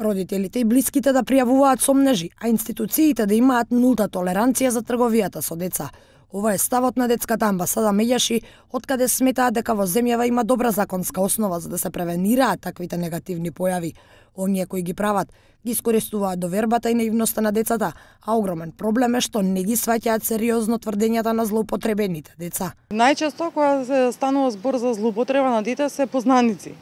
Родителите и блиските да пријавуваат сомнежи, а институциите да имаат нулта толеранција за трговијата со деца. Ова е ставот на детската амбасада Меѓаши, откаде сметаат дека во земјава има добра законска основа за да се превенираат таквите негативни појави. Оние кои ги прават, ги искористуваат довербата и наивноста на децата, а огромен проблем е што не ги сваќаат сериозно тврдењата на злоупотребените деца. Најчесто кога се станува збор за злоупотреба на дете се познаници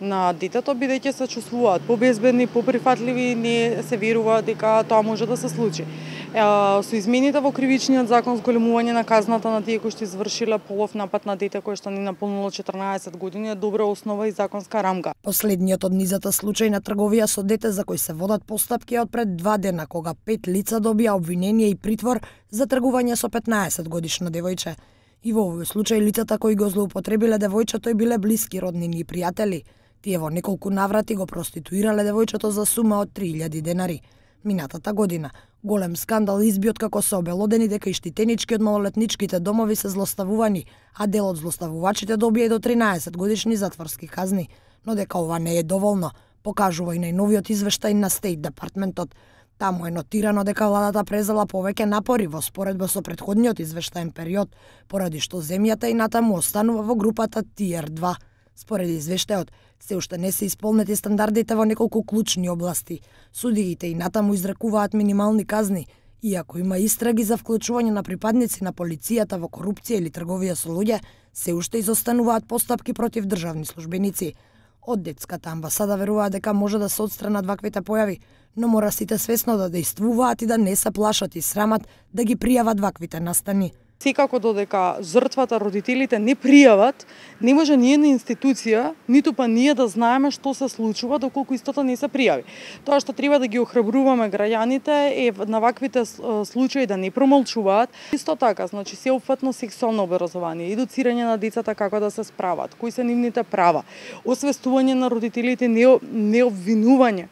на детето, бидејќи се чувствуваат побезбедни, поприфатливи, не се верува дека тоа може да се случи. Со измените во кривичниот закон, зголемување на казната на тие кои што извршиле полов напад на дете кое што не наполнило 14 години е добра основа и законска рамка. Последниот од низата случај на трговија со дете за кој се водат постапки од пред 2 дена, кога 5 лица добија обвинение и притвор за тргување со 15 годишно девојче. И во овој случај лицата кои го злоупотребиле девојчето и биле блиски роднини и пријатели. Тие во неколку наврати го проституирале девојчето за сума од 3000 денари. Минатата година голем скандал изби откако се обелодени дека и штитенички од малолетничките домови се злоставувани, а дел од злоставувачите добија и до 13 годишни затворски казни. Но дека ова не е доволно, покажува и најновиот извештај на Стейт Департментот. Таму е нотирано дека владата презела повеќе напори во споредба со претходниот извештаен период, поради што земјата и натаму останува во групата Tier 2. Според извештајот, се уште не се исполнети стандардите во неколку клучни области. Судиите и натаму изрекуваат минимални казни, иако има истраги за вклучување на припадници на полицијата во корупција или трговија со луѓе, се уште изостануваат постапки против државни службеници. Од детската амбасада веруваат дека може да се отстранат ваквите појави, но мора сите свесно да действуваат и да не се плашат и срамат да ги пријават ваквите настани. Секако додека жртвата, родителите не пријават, не може ниедна институција, ниту па ние да знаеме што се случува доколку истото не се пријави. Тоа што треба да ги охрабруваме граѓаните е на ваквите случаи да не промолчуваат. Исто така, значи сеопфатно сексуално образование, едуцирање на децата како да се справат, кои се нивните права, освестување на родителите, не обвинување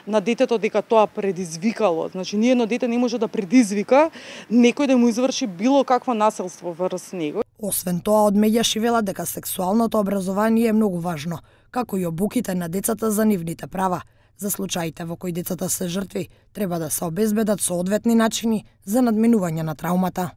на детето дека тоа предизвикало. Значи, ниедно дете не може да предизвика некој да му изврши било какво насилство врз него. Освен тоа, од Меѓаши велат дека сексуалното образование е многу важно, како и обуките на децата за нивните права. За случаите во кои децата се жртви, треба да се обезбедат соодветни начини за надминување на траумата.